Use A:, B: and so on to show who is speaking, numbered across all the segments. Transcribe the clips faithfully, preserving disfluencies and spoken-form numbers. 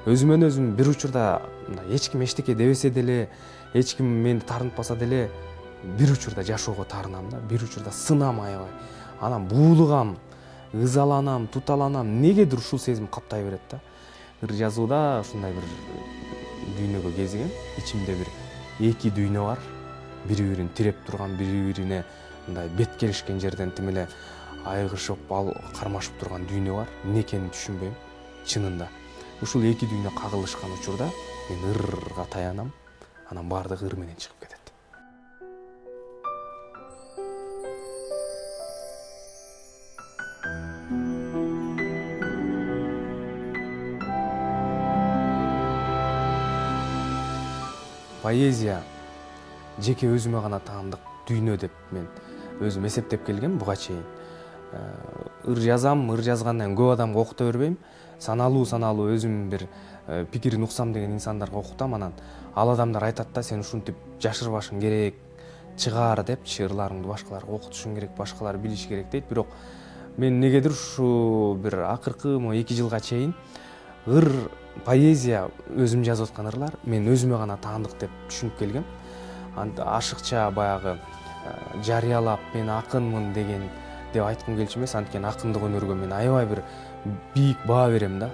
A: өзүмөн өзүм бир учурда эч ким эчтеке дебесе деле, эч ким мени таарынтпаса деле бир учурда жашоого таарынам да, бир учурда сынам аябай. Анан буулугам, ызаланам, туталанам, негедир ушул сезим каптай берет да. Ыр жазууда ушундай бир дүйнөгө кезигем. Ичимде бир эки дүйнө бар. Бири-бирин тиреп турган, бири-бирине мындай бет келишкен жерден тим эле айгышып, ал кармашып турган дүйнө бар. Эмне экенин түшүнбөйм чынында. Ушул эки дүйнө кагылышкан учурда мен ырга таянам, анан баардыгы ыр менен чыгып кетет. Поэзия жеке өзүмө гана таандык дүйнө деп мен өзүм эсептеп келгем буга чейин. Ыр жазам, ыр жазгандан көп адамга окута бербейм. Саналуу саналуу өзүм бир пикирин уксам деген инсандарга окутам, анан ал адамдар айтат да, сен ушинтип жашырбашың керек, чыгаар депчи, ырларыңды башкаларга окутушуң керек, башкалар билиш керек дейт. Бирок мен негедир ушу бир акыркы эки жылга чейин ыр поэзия өзүм жазып аткан ырлар мен өзүмө гана таандык деп түшүнүп келгем. Ашыкча баягы жарыялап мен акынмын деген деп айткым келчү эмес, анткени акындык өнөргө мен аябай бир бийик баа берем да,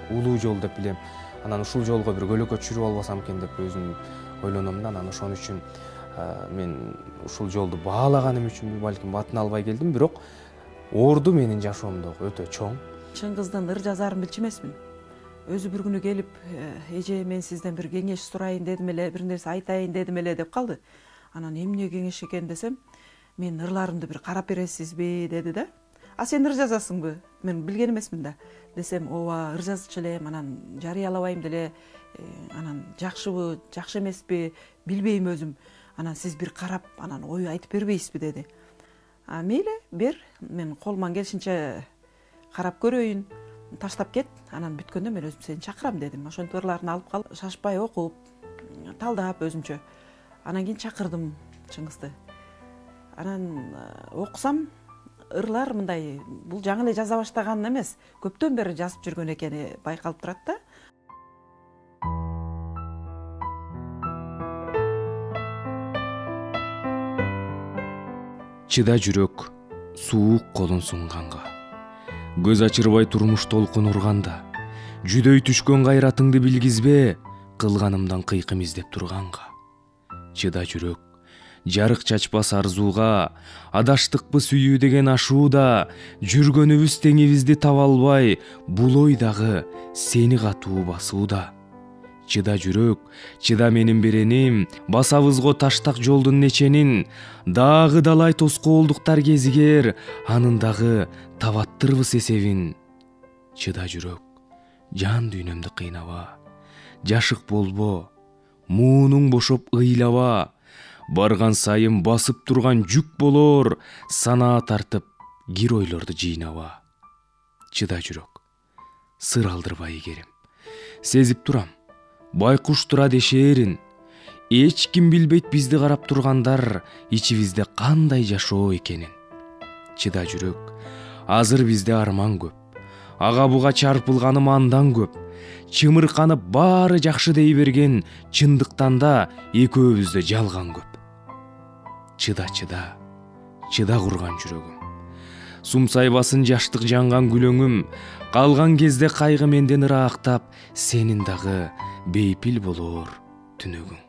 A: улуу жол деп билем. Анан ушул жолго бир көлөкө чүрүп албасам экен деп өзүм ойлоном да. Анан ошон үчүн мен ушул жолду баалаганым үчүн балким батын албай келдим, бирок орду менин жашоомдогу өтө чоң.
B: Чын кыздан ыр жазаарын билчү эмесмин. Өзү бир күнү келип, эже мен сизден бир кеңеш сурайын дедим эле, бир нерсе айтайын дедим эле деп калды. Анан эмне кеңеш экен десем, мен ырларымды бир карап бересизби деди да. А сен ыр жазасыңбы? Мен билген эмесмин да. Десем, ооба, ыр жазчу элем, анан жарыялабайм деле, анан жакшыбы, жакшы эмеспи, билбейм өзүм. Анан сиз бир карап, анан ой айтып бербейсизби деди. А мейли, бер, мен колуман келишинче карап көрөйүн. Таштап кет, анан бүткөндө мен өзүм сени чакырам дедим. Ошентип ырларын алып калып, шашпай окуп, талдап өзүмчө. Анан кийин чакырдым чын кызды. Анан окусам, ырлар мындай, бул жаңы эле жаза баштаган эмес, көптөн бери жазып жүргөн экени байкалып турат да.
C: Чыда жүрөк, суук колун сунганга. Көз ачырбай турмуш толкун урганда, жүдөй түшкөн кайратыңды билгизбе, кылганымдан кыйкым издеп турганга. Чыда жүрөк, жарык чачпас арзууга, адаштыкпы сүйүү деген ашууда, жүргөнүбүз теңибизди таба албай, бул ойдагы сени катуу басууда. Чыда жүрөк, чыда менин береним, басабызго таштак жолдун неченин, дагы далай тоскоолдуктар кезигер, анын дагы табаттырбыз эсебин. Чыда жүрөк, жан дүйнөмдү кыйнаба, жашык болбо, муунуң бошоп ыйлаба, барган сайын басып турган жүк болор, санаа тартып кир ойлорду жыйнаба. Чыда жүрөк, сыр алдырбай игерим, сезип турам, байкуш тура дешээрин, эч ким билбейт бизди карап тургандар ичибизде кандай жашоо экенин. Чыда жүрөк, азыр бизде арман көп, ага буга чарпылганым андан көп, чымырканып баары жакшы дей берген, чындыктан да экөөбүздө жалган көп. Чыда, чыда, чыда курган жүрөгүм, сумсайбасын жаштык жанган күлөңүм, калган кезде кайгы менден ыраактап, сенин дагы бейпил болор түнөгүң.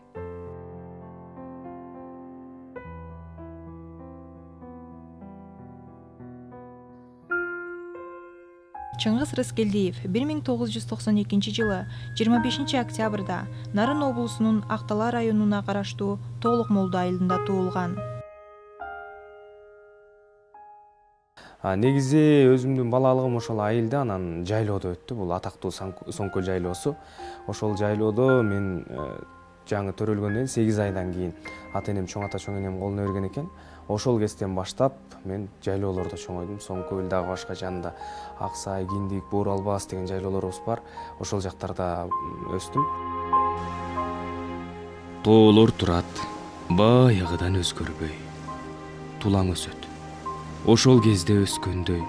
D: Чыңгыз Рыскелдиев бир миң тогуз жүз токсон экинчи жылы жыйырма бешинчи октябрда Нарын облусунун Актала районуна караштуу Толук Молду айылында туулган.
A: Негизи өзүмдүн балалыгым ошол айылда, анан жайлоодо өттү. Бул атактуу Соңкөл жайлоосу. Ошол жайлоодо мен жаңы төрөлгөндөн сегиз айдан кийин ата энем, чоң ата чоң энем колуна берген экен. Ошол кезден баштап мен жайлоолордо чоңойдум. Соңкөл дагы башка жанында Аксай, Киндик, Буур Албас деген жайлоолорубуз бар. Ошол жактарда өстүм.
C: Тоолор турат, баягыдан өзгөрбөй. Тулаң өсөт. Ошол кезде өскөндөй,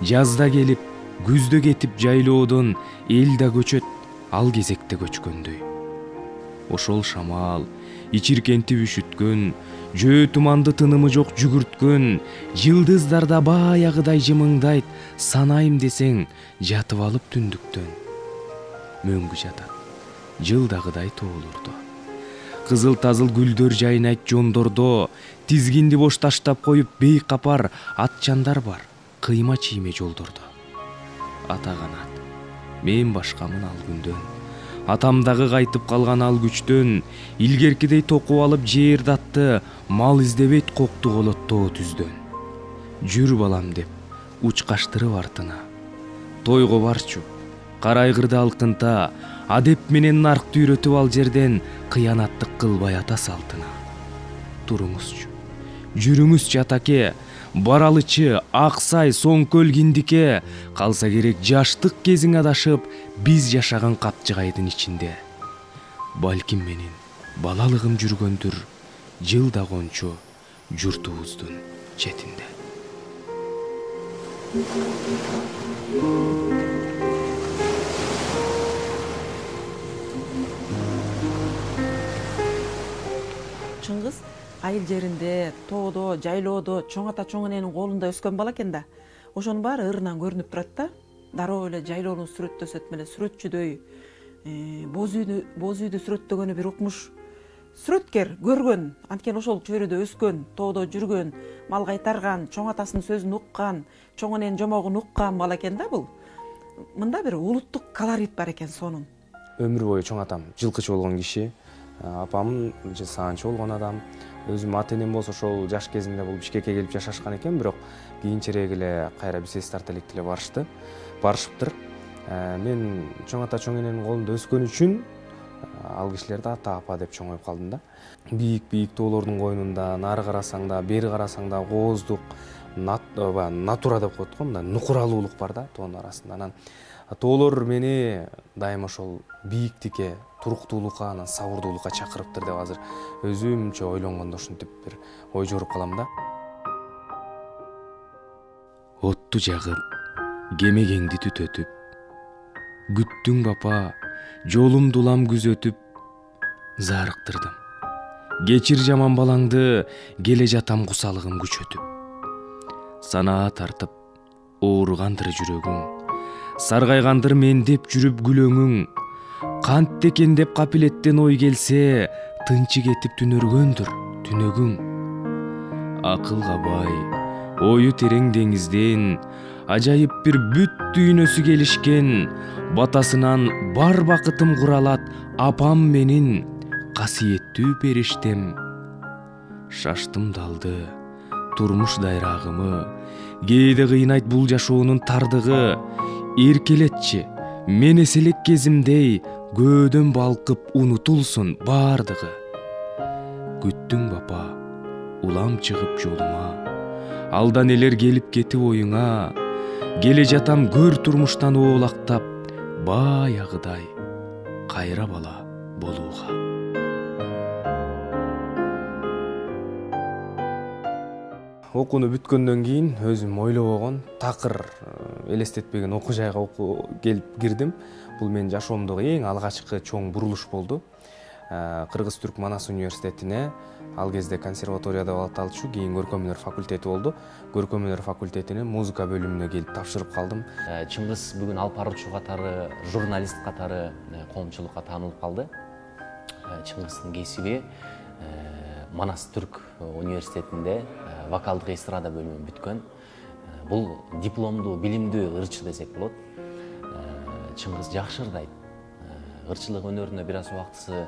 C: жазда келип, күздө кетип жайлоодон эл да көчөт, ал кезекте көчкөндөй. Ошол шамал ичиркентип үшүткөн, жөө туманды тынымы жок жүгүрткөн, жылдыздарда баягыдай жымыңдайт, санайым десең жатып алып түндүктөн. Мөңгү жатат, жылдагыдай тоолордо. Кызыл тазыл гүлдөр жайнайт жондордо, тизгинди бош таштап коюп бейкапар атчандар бар, кыйма чийме жолдордо. Ата канат, мен башкамын ал күндөн. Атамдагы кайтып калган ал күчтөн, илгеркидей токуп алып жээрдатты, мал издебейт кокту колот тоо түздөн. Жүр балам деп учкаштырып артына. Тойго барчу, карайгырды алкынта, адеп менен наркты үйрөтүп ал жерден, кыянаттык кылбай ата салтына. Туруңузчу, жүрүңүзчү атаке, баралычы, Аксай, Соңкөл, Киндике, калса керек жаштык кезиң адашып, биз жашаган Капчыгайдын ичинде. Балким менин балалыгым жүргөндүр, жылда кончу журтубуздун четинде.
B: Чыңгыз айыл жеринде, тоодо, жайлоодо чоң ата чоң эненин колунда өскөн бала экен да. Ошонун баары ырынан көрүнүп турат да. Дароо эле жайлоону сүрөттөсөт эле, сүрөтчүдөй. Боз үйдү, боз үйдү сүрөттөгөнү бир укмуш. Сүрөткер көргөн, анткени ошол чөйрөдө өскөн, тоодо жүргөн, мал кайтарган, чоң атасынын сөзүн уккан, чоң эненин жомогун уккан бала экен да бул. Мында бир улуттук колорит бар экен сонун.
A: Өмүр бою чоң атам жылкычы болгон киши, апам саанчы болгон адам. Өзүм ата энем болсо ошол жаш кезинде бул Бишкекке келип жашашкан экен, бирок кийинчерээк эле кайра биз эс тарта элек деле барышты. Барышыптыр. Мен чоң ата чоң эненин колунда өскөн үчүн ал кишилерди ата апа деп чоңоюп калдым да. Бийик-бийик тоолордун койнунда, нары карасаң да, бери карасаң да кооздук, натура деп коет го, мындай нукуралуулук бар да тоонун арасында. Анан тоолор мени дайыма ошол бийиктикке, туруктуулукка, анан сабырдуулукка чакырыптыр деп азыр өзүмчө ойлонгондо ушинтип бир ой жоруп калам да.
C: Отту жагып, кемегеңди түтөтүп, күттүң бапа, жолумду улам күзөтүп, зарыктырдым. Кечир жаман балаңды, келе жатам кусалыгым күчөтүп. Санаа тартып, ооругандыр жүрөгүң, саргайгандыр мен деп жүрүп күлөңүң. Кантте экен деп капилеттен ой келсе, тынчы кетип түнөргөндүр түнөгүң. Акылга бай, ою терең деңизден, ажайып бир бүт дүйнөсү келишкен, батасынан бар бакытым куралат апам менин, касиеттүү периштем. Шаштым далды, турмуш дайрагымы, кээде кыйнайт бул жашоонун тардыгы. Эркелетчи, мен эселек кезимдей, көөдөн балкып унутулсун бардыгы. Күттүң бапа, улам чыгып жолума, алдан элер келип кетип оюңа. Келе жатам көр турмуштан оолактап, баягыдай кайра бала болууга.
A: Окууну бүткөндөн кийин өзүм ойлобогон, такыр элестетпеген окуу жайга келип кирдим. Бул менин жашоомдогу эң алгачкы чоң бурулуш болду. Кыргыз-Түрк Манас университетине, ал кезде консерватория деп аталчу, кийин көркөм өнөр факультети болду. Көркөм өнөр факультетинин музыка бөлүмүнө келип тапшырып калдым.
E: Чыңгыз бүгүн алып баруучу катары, журналист катары коомчулукка таанылып калды. Чыңгыздын кесиби Манас Түрк университетинде вокалдык эстрада бөлүмүн бүткөн. Бул дипломдуу, билимдүү ырчы десек болот. Чыңгыз жакшы ырдайт. Ырчылык өнөрүнө бир аз убактысы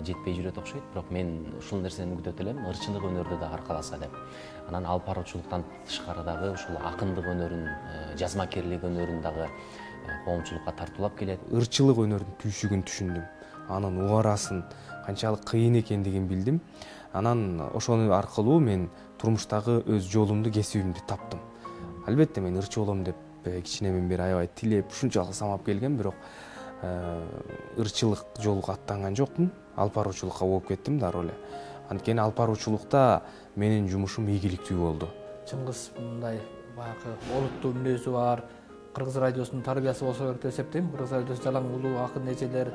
E: жетпей жүрөт окшойт, бирок мен ушул нерсени күтөт элем, ырчылык өнөрдө да аркаласа деп. Анан алып баруучулуктан тышкары дагы ушул акындык өнөрүн, жазмакерлик өнөрүн дагы коомчулукка тартуулап келет.
A: Ырчылык өнөрдүн түйшүгүн түшүндүм. Анын угарасын, канчалык кыйын экендигин билдим. Анан ошону аркылуу мен турмуштагы өз жолумду, кесибимди таптым. Албетте мен ырчы болом деп кичинемен бери аябай тилеп, ушунчалык самап келгем, бирок ырчылык жолго аттанган жокмун. Алып баруучулукка болуп кеттим дароо эле. Анткени алып баруучулукта менин жумушум ийгиликтүү болду.
F: Чыңгыз мындай баягы олуттуу мүнөзү бар, Кыргыз радиосунун тарбиясы болсо керек деп эсептейм. Кыргыз радиосу жалаң улуу акын эжелер,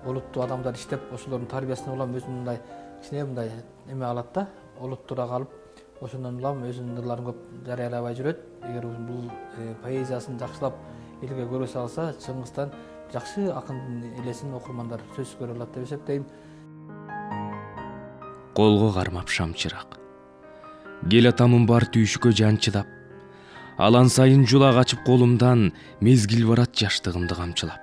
F: олуттуу адамдар иштеп, ошолордун тарбиясынан улам өзүн мындай кичине мындай эме алат да, олуттуураак алып, ошондон улам өзүнүн ырларын көп жарыялабай жүрөт. Эгер бул поэзиясын жакшылап элге көрсө алса, Чыңгыздан жакшы акындын элесин окурмандар сөзсүз көрө алат деп эсептейм.
C: Колго кармап шамчырак, кел атамын бар түйшүккө жан чыдап, алан сайын жула качып колумдан, мезгил барат жаштыгымды камчылап.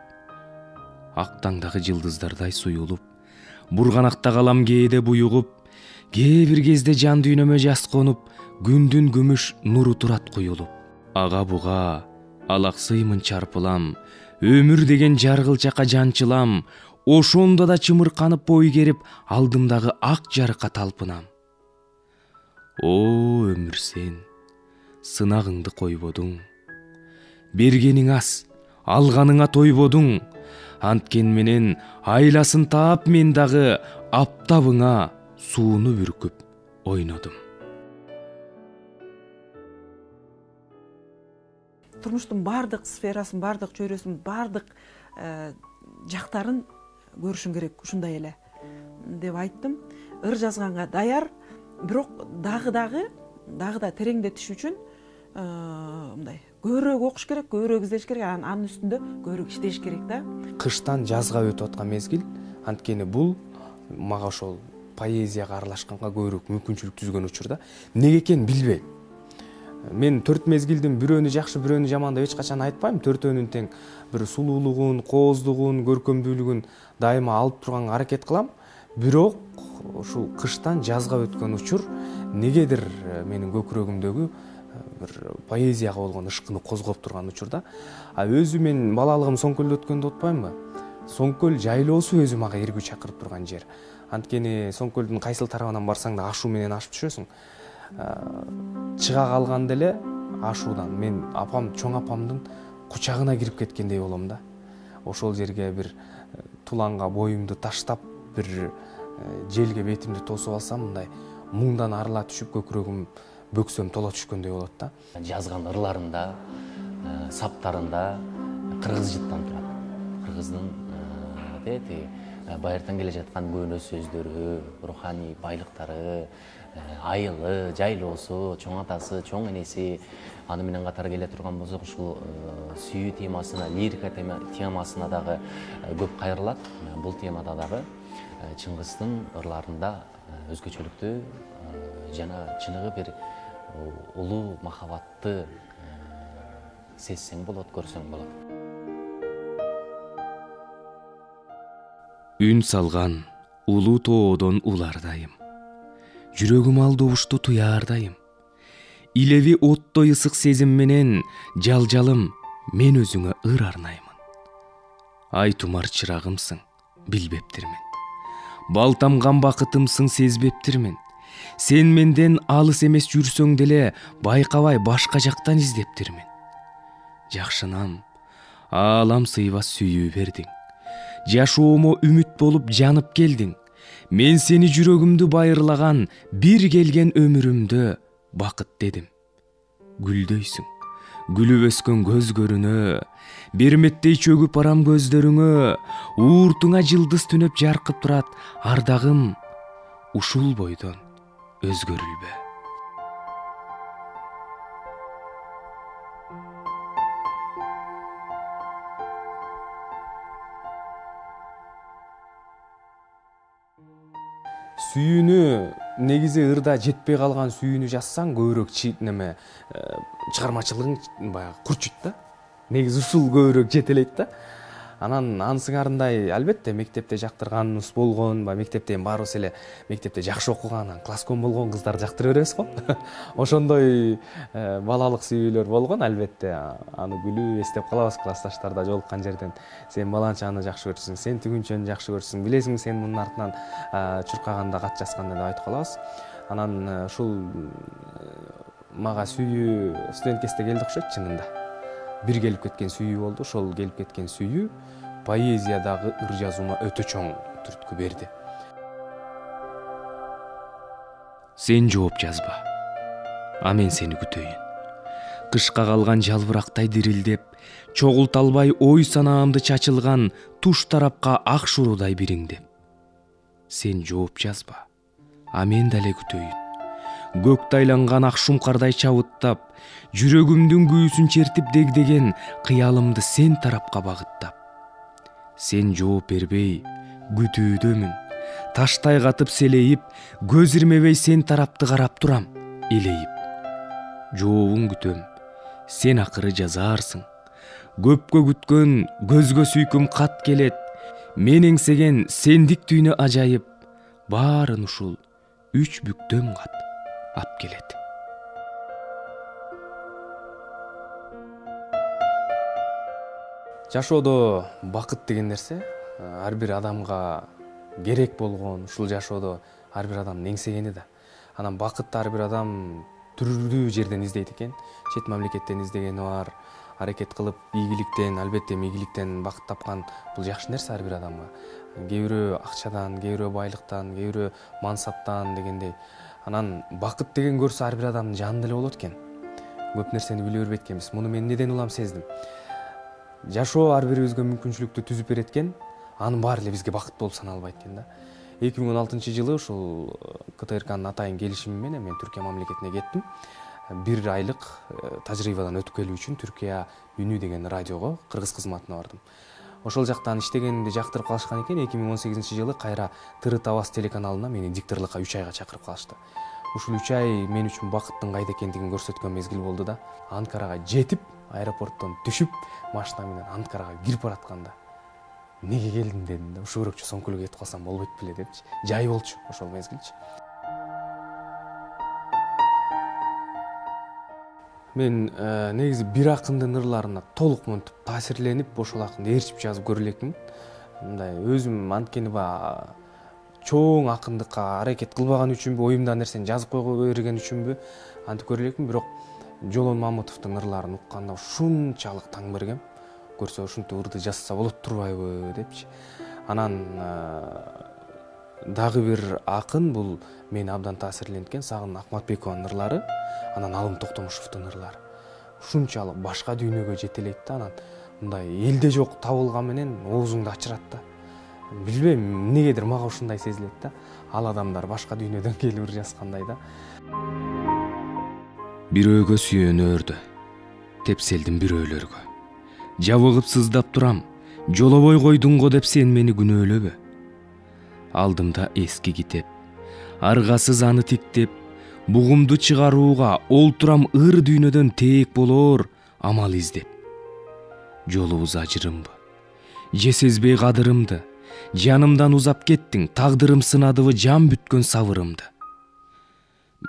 C: Ак таңдагы жылдыздардай суюлуп, бурганакта калам кээде буюгуп, кээ бир кезде жан дүйнөмө жас конуп, күндүн күмүш нуру турат куюлуп. Ага буга алаксыймын чарпылам, өмүр деген жаргылчакка жанчылам, ошондо да чымырканып бой керип, алдымдагы ак жарыкка талпынам. О өмүр, сен сынагыңды койбодуң, бергениң аз, алганыңа тойбодуң, анткен менен айласын таап мен дагы аптабыңа сууну бүркүп ойнодум.
B: Турмуштун бардык сферасын, бардык чөйрөсүн, бардык жактарын көрүшүң керек, ушундай эле деп айттым. Ыр жазганга даяр, бирок дагы дагы дагы да тереңдетиш үчүн мындай көбүрөөк окуш керек, көбүрөөк издеш керек, анын үстүндө көбүрөөк иштеш керек да.
A: Кыштан жазга өтүп аткан мезгил, анткени бул мага ошол поэзияга аралашканга көбүрөөк мүмкүнчүлүк түзгөн учур да. Неге экенин билбейм. Мен төрт мезгилдин бирөөнү жакшы, бирөөнү жаман деп эч качан айтпайм. Төртөөнүн тең бир сулуулугун, кооздугун, көркөмдүүлүгүн дайыма алып турганга аракет кылам. Бирок ушул кыштан жазга өткөн учур негедир менин көкүрөгүмдөгү бир поэзияга болгон ышкыны козгоп турган учур да. А өзү мен балалыгым Соңкөлдө өткөндү утпаймынбы? Соңкөл жайлоосу өзү мага эргүү чакырып турган жер. Анткени Соңкөлдүн кайсыл тарабынан барсаң да ашуу менен ашып түшөсүң. Чыга калганда эле ашуудан мен апам, чоң апамдын кучагына кирип кеткендей болом да. Ошол жерге бир туланга боюмду таштап, бир желге бетимди тосуп алсам, мындай муңдан арыла түшүп көкүрөгүм, бөксөм тола түшкөндөй болот да.
E: Жазган ырларында, саптарында кыргыз жыттан турат. Кыргыздын дети байыртан келе жаткан көөнө сөздөрү, руханий байлыктары, айылы, жайлоосу, чоң атасы, чоң энеси, аны менен катар келе турган болсок, ушул сүйүү темасына, лирика темасына дагы көп кайрылат. Бул темада дагы Чыңгыздын ырларында өзгөчөлүктүү жана чыныгы бир улуу махабатты сезсең болот, көрсөң болот.
C: Үн салган улуу тоодон улардайым, жүрөгүм алдобушту туяардайым. Илеви оттой ысык сезим менен, жалжалым, мен өзүңө ыр арнаймын. Ай тумар чырагымсың, билбептирмин. Балтамган бакытымсың, сезбептирмин. Сен менден алыс эмес жүрсөң деле, байкабай башка жактан издептирмин. Жакшынам, аалам сыйбас сүйүү бердиң. Жашоомо үмүт болуп жанып келдиң. Мен сени жүрөгүмдү байырлаган, бир келген өмүрүмдө бакыт дедим. Гүлдөйсүң, күлүп өскөн көз көрүнө, берметтей чөгүп барам көздөрүңө, ууртуңа жылдыз түнөп жаркып турат, ардагым ушул бойдон өзгөрүлбө.
A: Сүйүүнү негизи ырда жетпей калган сүйүүнү жазсаң көбүрөөк неме чыгармачылыгың баягы курчуйт да. Негизи ушул көбүрөөк жетелейт да. Анан ансыңарындай албетте мектепте жактырганыбыз болгон, баягы мектепте эми баарыбыз эле мектепте жакшы окуган, класском болгон кыздар жактыра беребиз го. Ошондой балалык сүйүүлөр болгон албетте. Аны күлүп эстеп калабыз классташтарда жолуккан жерден. Сен баланчаны жакшы көрсүң, сен түгүнчөнү жакшы көрсүң, билесиң сен мунун артынан чуркаганда, кат жазганда деп айтып калабыз. Анан ушул мага сүйүү студент кезде келди окшойт чынында. Бир келип кеткен сүйүү болду. Ошол келип кеткен сүйүү поэзиядагы ыр жазуума өтө чоң түрткү берди.
C: Сен жооп жазба, а мен сени күтөйүн. кышка калган жалбырактай дирилдеп, чогулта албай ой санаамды чачылган туш тарапка ак шуурудай бириңдеп. Сен жооп жазба, а мен дале күтөйүн. Көктө айланган ак шумкардай чабыттап, жүрөгүмдүн күйүүсүн чертип дегдеген кыялымды сен тарапка багыттап. Сен жооп бербей, күтүүдөмүн. Таштай катып селейип, көз ирмебей сен тарапты карап турам, элейип. Жообун күтөм, сен акыры жазаарсың. Көпкө күткөн көзгө сүйкүм кат келет. Мен эңсеген сендик түйнө ажайып, баарын ушул үч бүктөм кат ап келет.
A: Жашоодо бакыт деген нерсе ар бир адамга керек болгон, ушул жашоодо ар бир адамдын эңсегени да. Анан бакытты ар бир адам түрдүү жерден издейт экен. Чет мамлекеттен издегени бар, аракет кылып ийгиликтен, албетте ийгиликтен бакыт тапкан бул жакшы нерсе ар бир адамга. Кээ бирөө акчадан, кээ бирөө байлыктан, кээ бирөө мансаптан дегендей. Анан бакыт деген көрсө ар бир адамдын жанында эле болот экен. Көп нерсени биле бербейт экенбиз. Муну мен неден улам сездим. Жашоо ар бирибизге мүмкүнчүлүктү түзүп берет экен, анын баары эле бизге бакыт болуп саналбайт экен да. эки миң он алтынчы жылы ушул КТРКнын атайын келишими менен мен Түркия мамлекетине кеттим. Бир айлык тажрыйбадан өтүп келүү үчүн Түркия үнү деген радиого, кыргыз кызматына бардым. Ошол жактан иштегенди жактырып калышкан экен. эки миң он сегизинчи жылы кайра Тырыт Аваз телеканалына мени дикторлукка үч айга чакырып калышты. Ушул үч ай мен үчүн бакыттын кайда экендигин көрсөткөн мезгил болду да. Анкарага жетип, аэропорттон түшүп, машина менен Анкарага кирип баратканда неге келдим дедим да. Ушу көрөкчү соңкулук этип калсам болбойт беле депчи. Жай болчу ошол мезгилчи. Мен негизи бир акындын ырларына толук монтип таасирленип, ошол акынды ээрчип жазып көрө элекмин. Мындай өзүм анткени ба чоң акындыкка аракет кылбаган үчүнбү, оюмдагы нерсени жазып койго берген үчүнбү антип көрө элекмин, бирок Жолон Мамытовдун ырларын укканда ушунчалык таң бергем. Көрсө ушинтип ырды жазса болот турбайбы депчи. Анан дагы бир акын, бул мени абдан таасирленткен Сагын Акматбекованын ырлары, анан Алым Токтомушевдун ырлары. Ушунчалык башка дүйнөгө жетелейт да, анан мындай элде жок табылган менен оозуңду ачырат да. Билбейм, эмнегедир мага ушундай сезилет да. Ал адамдар башка дүйнөдөн келип ыр жазгандай да.
C: Бирөөгө сүйөнөрдү, тепселдим бирөөлөргө. Жабыгып сыздап турам, жолобой койдуң го деп сен мени күнөөлөбө. Алдымда эски китеп, аргасыз аны тиктеп, бугумду чыгарууга олтурам ыр дүйнөдөн тээк болоор амал издеп. Жолубуз ажырымбы, же сезбей кадырымды, жанымдан узап кеттиң, тагдырым сынадыбы жан бүткөн сабырымды.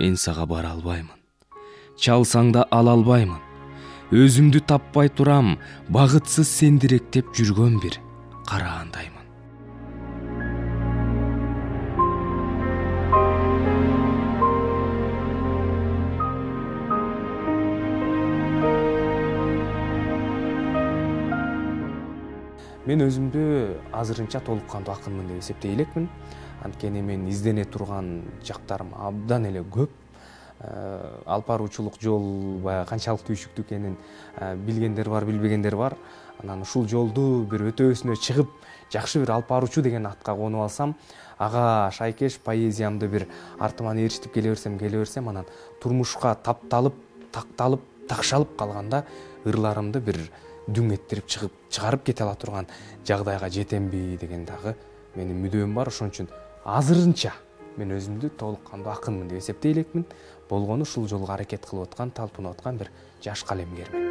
C: Мен сага бара албаймын, чалсаң да ала албаймын. Өзүмдү таппай турам, багытсыз сендиректеп жүргөн бир караандаймын.
A: Мен өзүмдү азырынча толук кандуу акынмын деп эсептей элекмин. Анткени мен издене турган жактарым абдан эле көп. Алып баруучулук жол баягы канчалык түйшүктүү экенин билгендер бар, билбегендер бар. Анан ушул жолду бир өтөөсүнө чыгып, жакшы бир алып баруучу деген атка конуп алсам, ага шайкеш поэзиямды бир артыман ээрчитип келе берсем, келе берсем, анан турмушка тапталып, такталып, такшалып калганда ырларымды бир дүң эттирип чыгып, чыгарып кете ала турган жагдайга жетемби деген дагы менин мүдөм бар. Ошон үчүн азырынча мен өзүмдү толук кандуу акынмын деп эсептей элекмин. Болгону ушул жолго аракет кылып аткан, талпынып аткан бир жаш калемгермин.